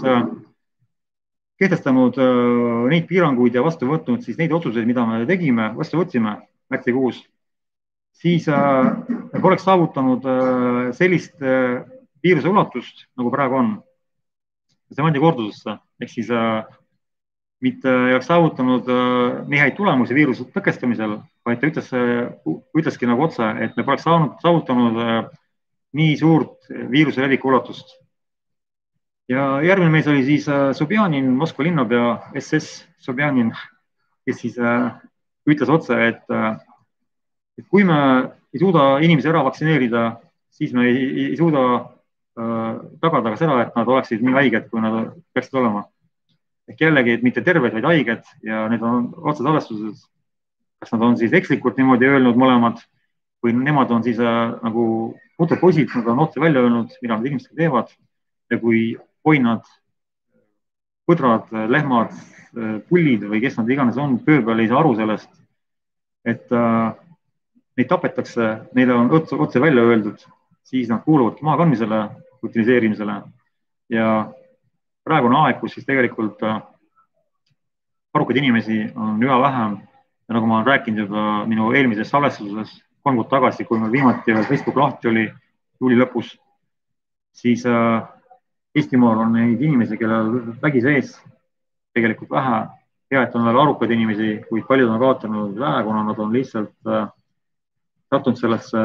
kehtestanud neid piiranguid ja vastu võtnud siis neid otsuseid, mida me tegime, vastu võtsime märtsikuus, siis me poleks saavutanud sellist viiruse ulatust, nagu praegu on. See mandi kordusesse, ehk siis mitte ei oleks saavutanud nii häid tulemusi viiruse tõkestamisel, vaid ta ütleski nagu otse, et me poleks saavutanud nii suurt viiruse leviku ulatust. Ja järgmine mees oli siis Sobjanin, Moskva linnapea, SS Sobjanin, kes siis ütles otse, et kui me ei suuda inimesi ära vaktsineerida, siis me ei suuda tagada ka seda, et nad oleksid nii haiged, kui nad peaksid olema. Ehk jällegi, et mitte terved, vaid haiged ja need on otsed arvestuses. Kas nad on siis ekslikult niimoodi öelnud mõlemad või nemad on siis nagu puterpoisid, nad on otse välja öelnud, mida nad inimestega teevad ja kui oinad, põdrad, lehmad, pullid või kes nad iganes on, pöö peal ei saa aru sellest, et neid tapetakse, neile on otse välja öeldud, siis nad kuuluvadki maakandmisele, utiliseerimisele ja praegune aeg, kus siis tegelikult arukaid inimesi on üha vähem ja nagu ma olen rääkinud juba minu eelmises salvestuses 3 kuud tagasi, kui meil viimati Facebook lahti oli juuli lõpus, siis Eestimaal on neid inimesi, kellel vägi sees tegelikult vähe. Hea, et on veel arukaid inimesi, kuid paljud on kaotanud vähe, kuna nad on lihtsalt sattunud sellesse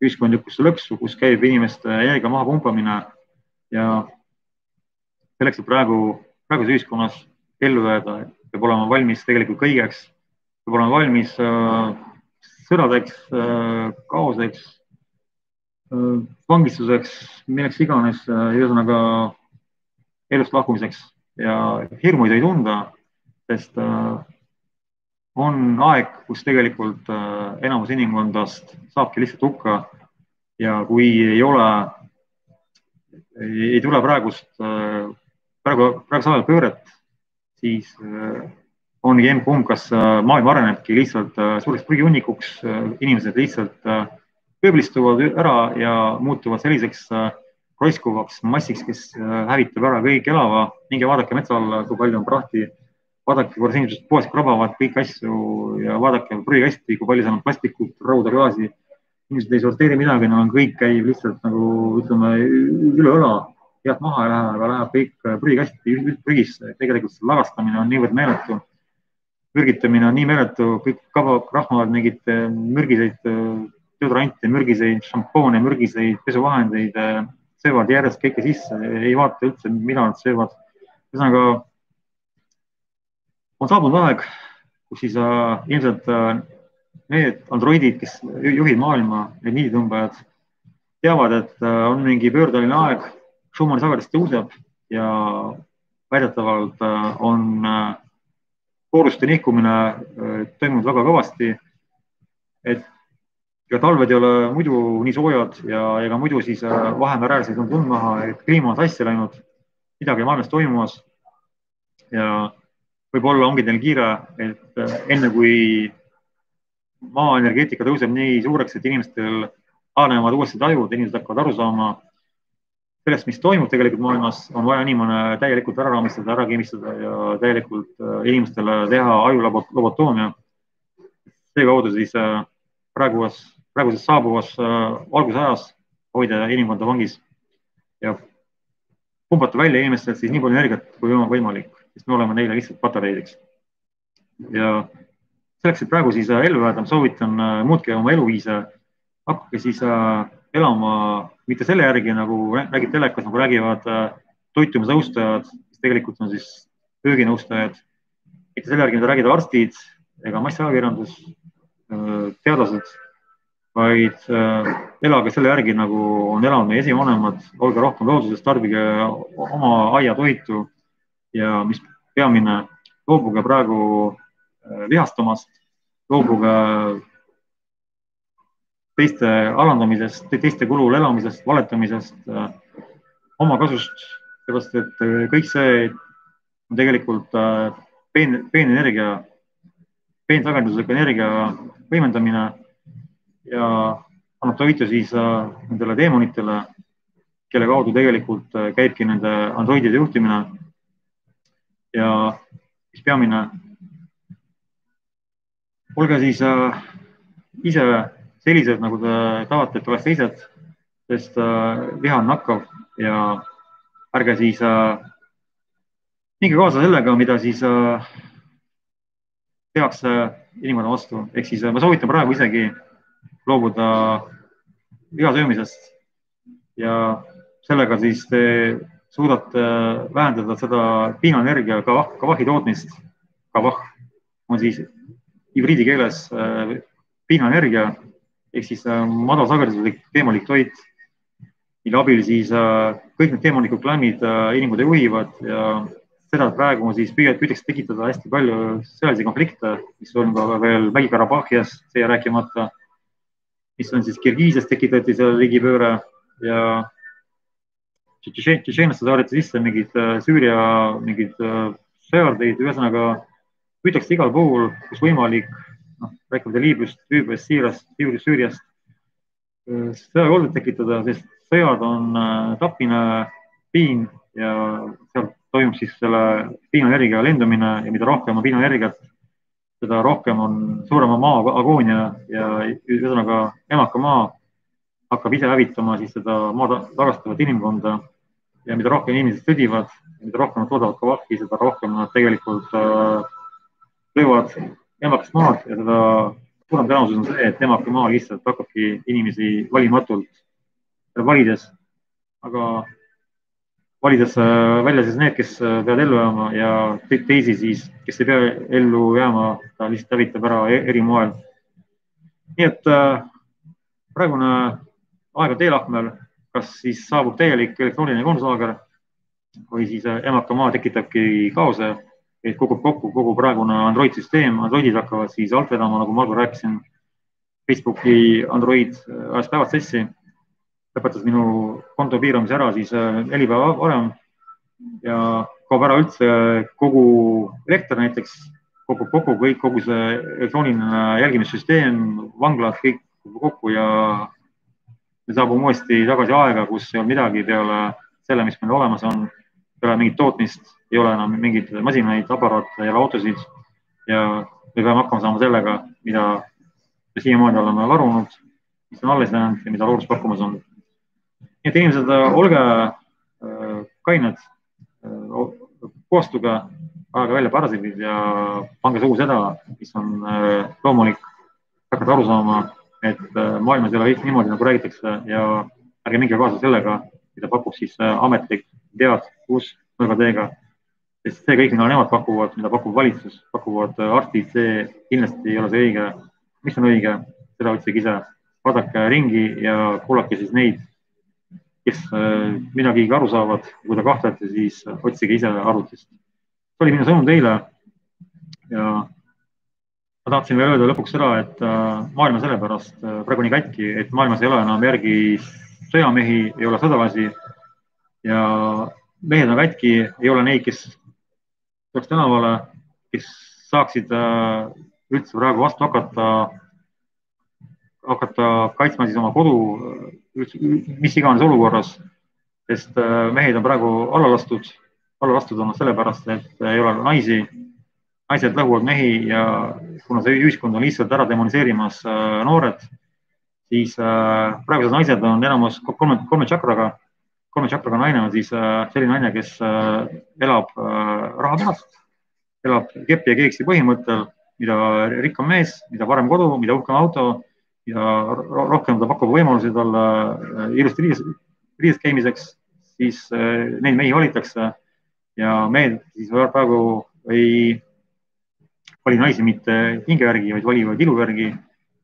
ühiskondlikusse lõksu, kus käib inimeste energia maha pumpamine ja selleks, et praeguses ühiskonnas ellu jääda, peab olema valmis tegelikult kõigeks, peab olema valmis sõdadeks, kaoseks, vangistuseks, milleks iganes, ühesõnaga elust lahkumiseks ja hirmu ei tohi tunda, sest on aeg, kus tegelikult enamus inimkondast saabki lihtsalt hukka ja kui ei tule praegusel ajal pööret, siis ongi emb-kumb, kas maailm arenebki lihtsalt suureks prügihunnikuks, inimesed lihtsalt pööblistuvad ära ja muutuvad selliseks roiskuvaks massiks, kes hävitab ära kõik elava. Minge vaadake metsa alla, kui palju on prahti. Vaadake, kuidas inimesed poest krabavad kõik asju ja vaadake prügikasti, kui palju seal on plastikut, rauda, klaasi. Inimesed ei sorteeri midagi, neil on kõik käib lihtsalt nagu ütleme üle õla, head maha ei lähe, aga läheb kõik prügikasti prügisse. Tegelikult see lagastamine on niivõrd meeletu. Mürgitamine on nii meeletu, kõik rahmavad mingid mürgiseid deodorante, mürgiseid šampoone, mürgiseid pesuvahendeid, söövad järjest kõike sisse, ei vaata üldse, mida nad söövad. Ühesõnaga, on saabunud aeg, kus siis ilmselt need androidid, kes juhid maailma, need niiditõmbajad, teavad, et on mingi pöördeline aeg, Schumanni sagedus tõuseb ja väidetavalt on kooruste nihkumine toimunud väga kõvasti, et ja talved ei ole muidu nii soojad ja ega muidu siis Vahemereäärseid on tund maha, et kliima on sassi läinud, midagi maailmas toimumas ja võib-olla ongi teil kiire, et enne kui maaenergeetika tõuseb nii suureks, et inimestel haanevad uuesti tajud, inimesed hakkavad aru saama sellest, mis toimub tegelikult maailmas, on vaja inimene täielikult ära raamistada, ära keemistada ja täielikult inimestele teha ajulobotoomia. See kaudu siis praeguses saabuvas valgusajas hoida inimkonda vangis ja pumbata välja inimestelt siis nii palju energiat kui võimalik, sest me oleme neile lihtsalt patareideks. Ja selleks, et praegu siis ellu jääda, soovitan muutke oma eluviise, hakake siis elama mitte selle järgi, nagu räägib telekas, nagu räägivad toitumisnõustajad, mis tegelikult on siis ööginõustajad, mitte selle järgi, mida räägivad arstid ega massajakirjandus, teadlased, vaid elage selle järgi, nagu on elanud meie esivanemad, olge rohkem looduses, tarbige oma aiatoitu ja mis peamine, loobuge praegu vihastamast, loobuge teiste alandamisest, teiste kulul elamisest, valetamisest, omakasust, seepärast et kõik see on tegelikult peenenergia, peensagedusliku energia võimendamine ja annab toitu siis nendele teemonitele, kelle kaudu tegelikult käibki nende androidide juhtimine. Ja mis peamine, olge siis ise sellised, nagu te tahate, et oleks teised, sest viha on nakkav ja ärge siis minge kaasa sellega, mida siis tehakse inimkonna vastu. Ehk siis ma soovitan praegu isegi loobuda liha söömisest ja sellega siis te suudate vähendada seda piinaenergia kavahi tootmist. Kavah on siis hübriidi keeles piinaenergia ehk siis madalsageduslik teemalik toit, mille abil siis kõik need teemalikud klämmid inimkud juhivad ja seda praegu siis püütakse tekitada hästi palju sõjalisi konflikte, mis on ka veel Mägi-Karabahhias, see rääkimata, mis on siis Kirgiisias tekitati seal riigipööre ja Tšetšeenlasse saadeti sisse mingid Süüria mingid sõjardeid, ühesõnaga püütakse igal pool, kus võimalik, rääkida Liibüast, Siirast, Süüriast, sõjakoldeid tekitada, sest sõjad on tapmine, piin ja seal toimub siis selle piinaenergia lendumine ja mida rohkem on piinaenergiat, seda rohkem on suurema maa agoonia ja ühesõnaga emaka maa hakkab ise hävitama siis seda maa tagastavat inimkonda ja mida rohkem inimesed sõdivad, mida rohkem nad toodavad kavahi, seda rohkem nad tegelikult löövad emakast maad ja seda suurem tõenäosus on see, et emaka maa lihtsalt hakkabki inimesi valimatult valides, aga valides välja siis need, kes peavad ellu jääma ja teisi siis, kes ei pea ellu jääma, ta lihtsalt hävitab ära eri moel. Nii et praegune aeg on teelahkmel, kas siis saabub täielik elektrooniline konslaager või siis emaka maa tekitabki kaose, et kukub kokku kogu praegune Android-süsteem, Androidid hakkavad siis alt vedama, nagu ma algul rääkisin, Facebooki Android ajas päevad sessi, lõpetas minu konto piiramise ära siis 4 päeva varem ja kaob ära üldse kogu elekter näiteks, kogu see elektrooniline jälgimissüsteem, vanglad, kõik kokku ja me saabume uuesti tagasi aega, kus ei ole midagi peale selle, mis meil olemas on, peale mingit tootmist, ei ole enam mingeid masinaid, aparaate, ei ole autosid ja me peame hakkama saama sellega, mida me siiamaani oleme varunud, mis on alles jäänud ja mida loodus pakkumas on. Nii et inimesed, olge kained, koostuge, ajage välja parasiidid ja pange suhu seda, mis on loomulik, hakata aru saama, et maailmas ei ole kõik niimoodi, nagu räägitakse ja ärge minge kaasa sellega, mida pakub siis ametlik tead, nurgateega. Sest see kõik, mida nemad pakuvad, mida pakub valitsus, pakuvad arstid, see kindlasti ei ole see õige. Mis on õige, seda otsige ise. Vaadake ringi ja kuulake siis neid, kes midagi aru saavad. Kui te kahtlete, siis otsige ise arvutist. See oli minu sõnum teile ja ma tahtsin veel öelda lõpuks seda, et maailma sellepärast praegu nii kätki, et maailmas ei ole enam järgi sõjamehi, ei ole sõdalasi ja mehed on kätki, ei ole neid, kes tuleks tänavale, kes saaksid üldse praegu vastu hakata kaitsma siis oma kodu, mis iganes olukorras, sest mehed on praegu alla lastud olnud sellepärast, et ei ole naisi. Naised lõhuvad mehi ja kuna see ühiskond on lihtsalt ära demoniseerimas noored, siis praegused naised on enamus kolme tšakraga. Kolme tšakraga naine on siis selline naine, kes elab raha pärast, elab kepi ja keeksi põhimõttel, mida rikkam mees, mida parem kodu, mida uhkem auto ja rohkem ta pakub võimalusi talle ilusti riides käimiseks, siis neid mehi valitakse ja mehed siis praegu ei vali naisi mitte hinge järgi, vaid valivad ilu järgi,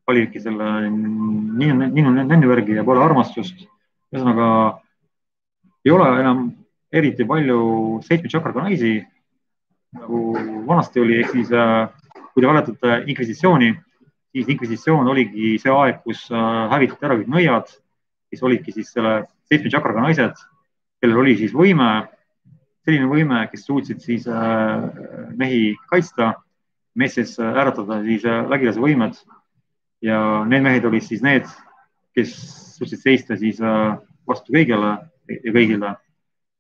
valivadki selle ninnu järgi ja pole armastust. Ühesõnaga, ei ole enam eriti palju 7 tšakraga naisi, nagu vanasti oli, ehk siis kui te valetate inkvisitsiooni, siis inkvisitsioon oligi see aeg, kus hävitati ära kõik nõiad, kes olidki siis selle 7 tšakraga naised, kellel oli siis võime, selline võime, kes suutsid siis mehi kaitsta, meestes äratada siis vägilase võimed ja need mehed olid siis need, kes suutsid seista siis vastu kõigele ja kõigile.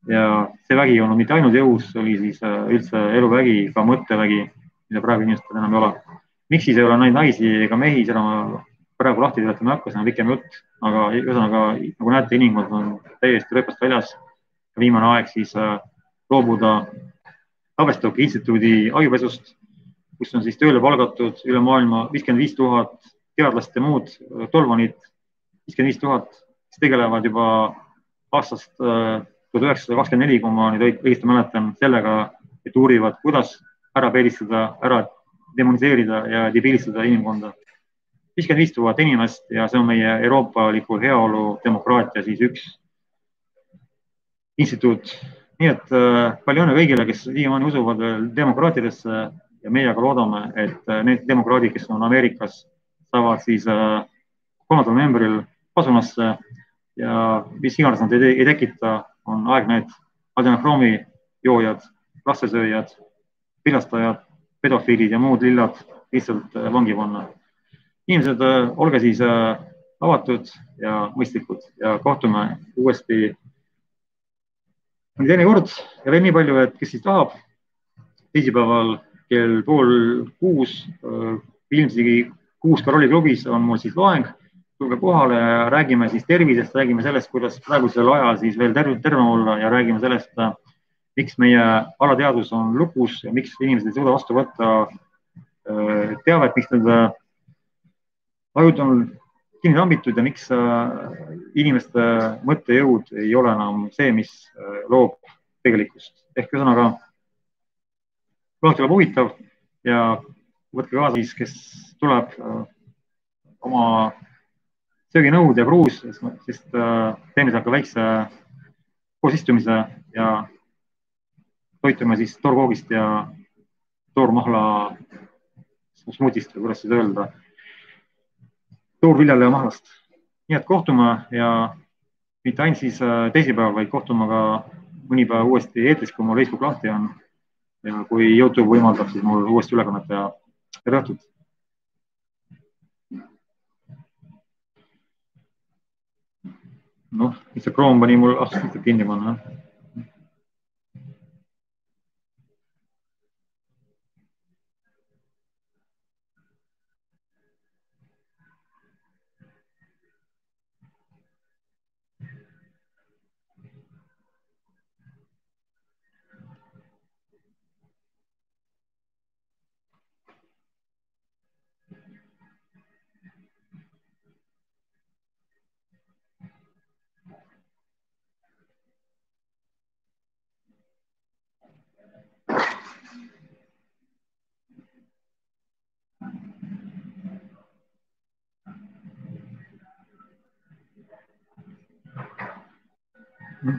Ja see vägi ei olnud mitte ainult jõus, oli siis üldse eluvägi, ka mõttevägi, mida praegu inimestel enam ei ole. Miks siis ei ole naisi ega mehi, seda ma praegu lahti seletama ei hakka, see on pikem jutt, aga ühesõnaga, nagu näete, inimkond on täiesti rööpast väljas. Viimane aeg siis loobuda Tavistoki instituudi ajupesust, kus on siis tööle palgatud üle maailma 55 000 teadlast ja muud tolvanid, 55 000, kes tegelevad juba aastast 1924, kui ma nüüd õigesti mäletan, sellega, et uurivad, kuidas ära peelistada, ära demoniseerida ja debiilistada inimkonda. 55 000 inimest ja see on meie euroopaliku heaolu demokraatia siis üks instituut. Nii et palju õnne kõigile, kes siiamaani usuvad demokraatidesse ja meie aga loodame, et need demokraadid, kes on Ameerikas, saavad siis 3. novembril pasunasse ja mis iganes nad ei tekita, on aeg need adenokroomi joojad, lastesööjad, pilastajad, pedofiilid ja muud lillad lihtsalt vangi panna. Inimesed, olge siis avatud ja mõistlikud ja kohtume uuesti teine kord ja veel nii palju, et kes siis tahab, teisipäeval kell 5:30 ilmsegi 6 Karoli klubis on mul siis loeng. Tulge kohale ja räägime siis tervisest, räägime sellest, kuidas praegusel ajal siis veel terve olla ja räägime sellest, miks meie alateadus on lukus ja miks inimesed ei suuda vastu võtta teavet, miks need ajud on kinni tambitud ja miks inimeste mõttejõud ei ole enam see, mis loob tegelikkust. Ehk ühesõnaga, kuulake tuleb huvitav ja võtke kaasa siis, kes tuleb oma sööginõud ja kruus, sest teeme seal ka väikse koosistumise ja toitume siis toorkoogist ja toormahla smuutist või kuidas seda öelda, toorviljale ja mahlast. Nii et kohtume ja mitte ainult siis teisipäeval, vaid kohtume ka mõni päev uuesti eetris, kui mul Facebook lahti on ja kui YouTube võimaldab, siis mul uuesti ülekannet teha. Tere õhtut! Noh, see Chrome pani mul lihtsalt kinni panna.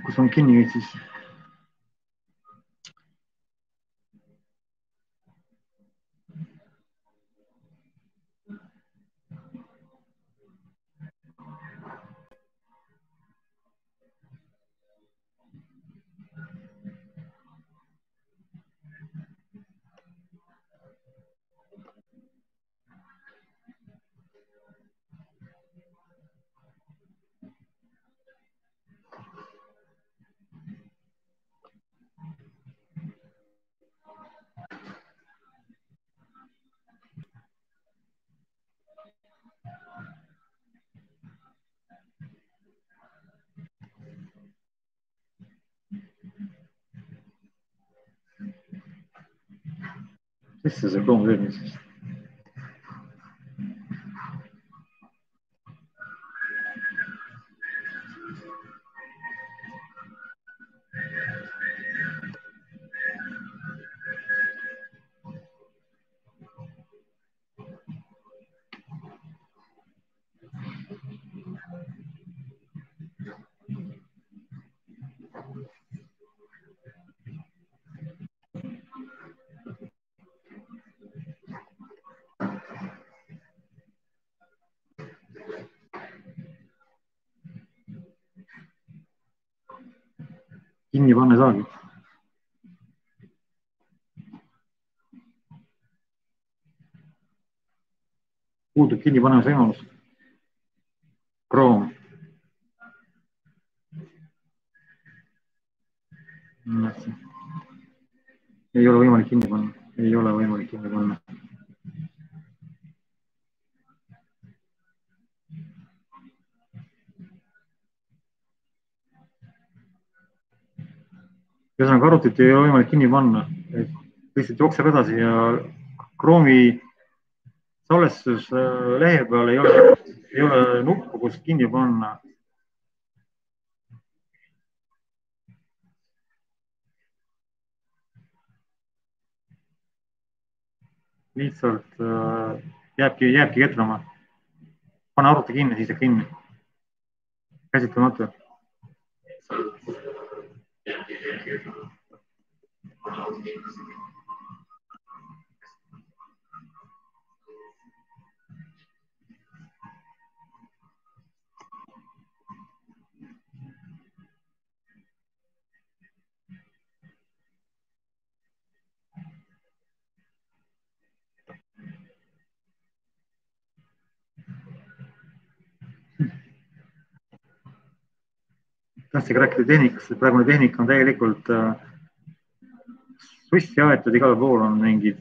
Kus on kinni nüüd siis? Mis see Chrome teeb nüüd siis? kinni panna ei saagi. Puudub kinni panemise võimalus. Chrome. Ei ole võimalik kinni panna. Ei ole võimalik kinni panna. Ühesõnaga arvutit ei ole võimalik kinni panna. Lihtsalt jookseb edasi ja Chrome'i salvestus lehe peal ei ole nuppu, kus kinni panna. Lihtsalt jääbki ketrama. Pane arvuti kinni, siis jääb kinni. Käsitlemata. Tahtsin rääkida tehnikast, et praegune tehnika on täielikult sussi aetud, igal pool on mingid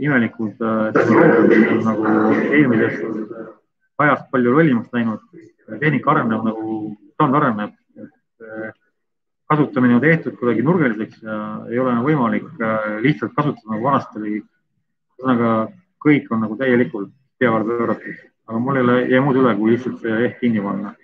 imelikud tehnoloogiad, nagu eelmisest ajast palju rollimaks läinud. Tehnika areneb nagu stand areneb. Kasutamine on tehtud kuidagi nurgeliseks ja ei ole võimalik lihtsalt kasutada nagu vanasti oli. Ühesõnaga kõik on nagu täielikult peale pööratud, aga mul ei jää muud üle, kui lihtsalt see ehk kinni panna.